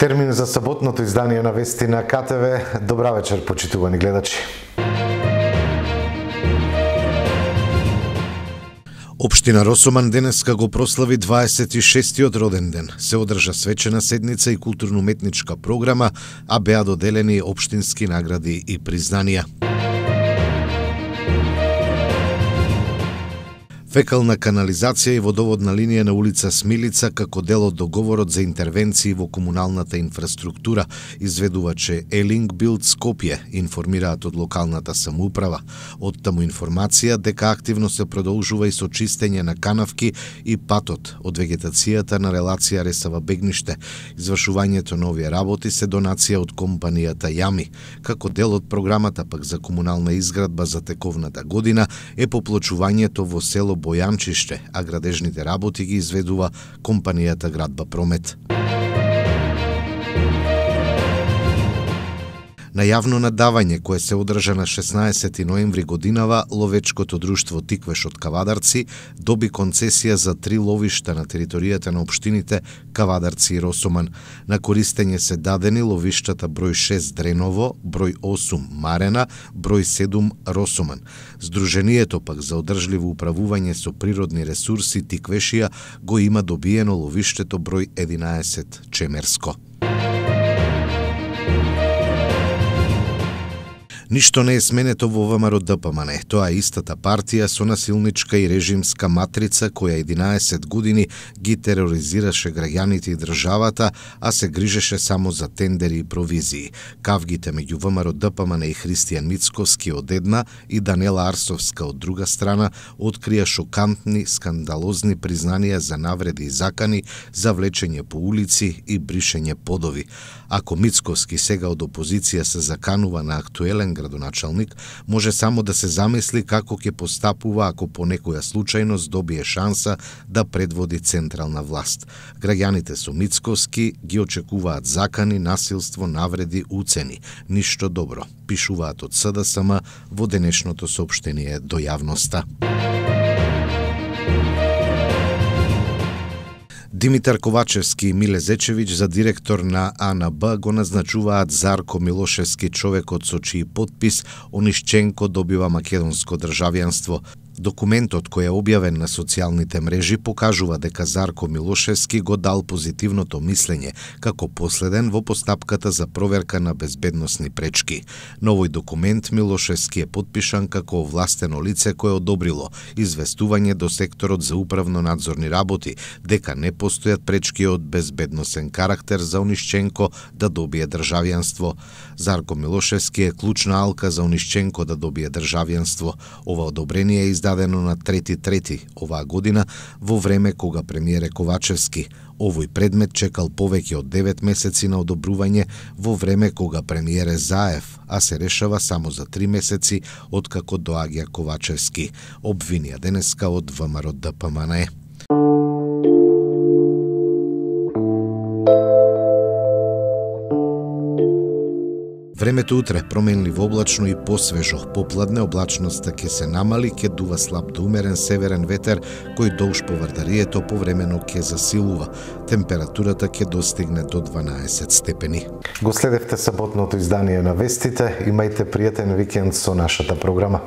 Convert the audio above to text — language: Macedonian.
Термин за саботното издание на вести на КТВ. Добра вечер, почитувани гледачи. Општина Росоман денеска го прослави 26-тиот роден ден. Се одржа свечена седница и културно-уметничка програма, а беа доделени општински награди и признанија. Фекална канализација и водоводна линија на улица Смилица како дел од договорот за интервенции во комуналната инфраструктура, изведуваче Елинг Билд Скопје информираат од локалната самоуправа. Од таму информација дека активно се продолжува и со чистење на канавки и патот од вегетацијата на релација Ресава-Бегниште. Извршувањето на овие работи се донација од компанијата Јами. Како дел од програмата пак за комунална изградба за тековната година е поплочувањето во село Бојанчиште, а градежните работи ги изведува компанијата Градба Промет. На јавно надавање кое се одржа на 16 ноември годинава, ловечкото друштво Тиквеш од Кавадарци доби концесија за 3 ловишта на територијата на општините Кавадарци и Росоман. На користење се дадени ловиштата број 6 Дреново, број 8 Марена, број 7 Росоман. Сдруженијето пак за одржливо управување со природни ресурси Тиквешија го има добиено ловиштето број 11 Чемерско. Ништо не е сменето во ВМРО ДПМН. Тоа е истата партија со насилничка и режимска матрица која 11 години ги тероризираше граѓаните и државата, а се грижеше само за тендери и провизии. Кавгите меѓу ВМРО ДПМН и Христијан Мицковски од една и Данела Арсовска од друга страна открија шокантни, скандалозни признанија за навреди и закани, за влечење по улици и бришење подови. Ако Мицковски сега од опозиција се заканува на актуелен градоначалник, може само да се замисли како ќе постапува ако по некоја случајност добие шанса да предводи централна власт. Граѓаните со Мицковски ги очекуваат закани, насилство, навреди, уцени. Ништо добро, пишуваат од СДСМ во денешното соопштение до јавноста. Димитар Ковачевски и Миле Зечевиќ за директор на АНБ го назначуваат Зарко Милошевски, човекот со чиј подпис Онишченко добива македонско државјанство. Документот кој е објавен на социјалните мрежи покажува дека Зарко Милошевски го дал позитивното мислење како последен во постапката за проверка на безбедносни пречки. На овој документ Милошевски е подпишан како овластено лице кое одобрило известување до секторот за управно-надзорни работи дека не постојат пречки од безбедносен карактер за Онишченко да добие државјанство. Зарко Милошевски е клучна алка за Онишченко да добие државјанство. Ова одобрение е издадено на 3.3. оваа година во време кога премиер Ковачевски. Овој предмет чекал повеќе од 9 месеци на одобрување во време кога премиер е Заев, а се решава само за 3 месеци откако доаѓа Ковачевски. Обвинија денеска од ВМРО ДПМН. Времето утре променливо облачно и посвежо. Попладне облачноста ќе се намали, ќе дува слаб до умерен северен ветер кој долж поврдарието повремено ќе засилува. Температурата ќе достигне до 12 степени. Го следевте саботното издание на вестите. Имајте пријатен викенд со нашата програма.